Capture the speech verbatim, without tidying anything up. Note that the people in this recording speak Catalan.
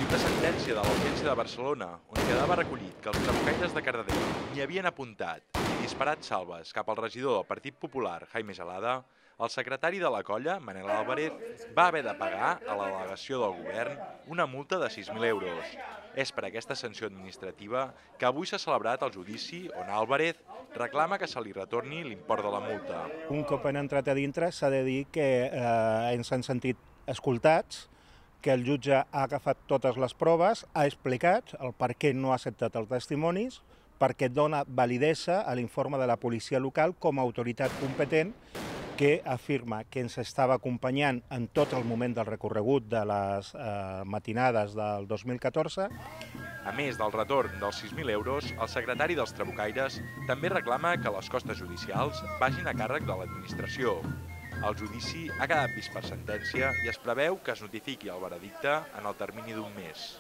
La sentència de l'Audiència de Barcelona, on quedava recollit que els trabucaires de Cardedeu n'hi havien apuntat i disparat salves cap al regidor del Partit Popular, Jaime Gelada, el secretari de la colla, Manel Álvarez, va haver de pagar a la delegació del govern una multa de sis mil euros. És per aquesta sanció administrativa que avui s'ha celebrat el judici on Álvarez reclama que se li retorni l'import de la multa. Un cop han entrat a dintre s'ha de dir que eh, ens han sentit escoltats, que el jutge ha agafat totes les proves, ha explicat el per què no ha acceptat els testimonis, perquè dona validesa a l'informe de la policia local com a autoritat competent que afirma que ens estava acompanyant en tot el moment del recorregut de les eh, matinades del dos mil catorze. A més del retorn dels sis mil euros, el secretari dels trabucaires també reclama que les costes judicials vagin a càrrec de l'administració. El judici ha quedat vist per sentència i es preveu que es notifiqui el veredicte en el termini d'un mes.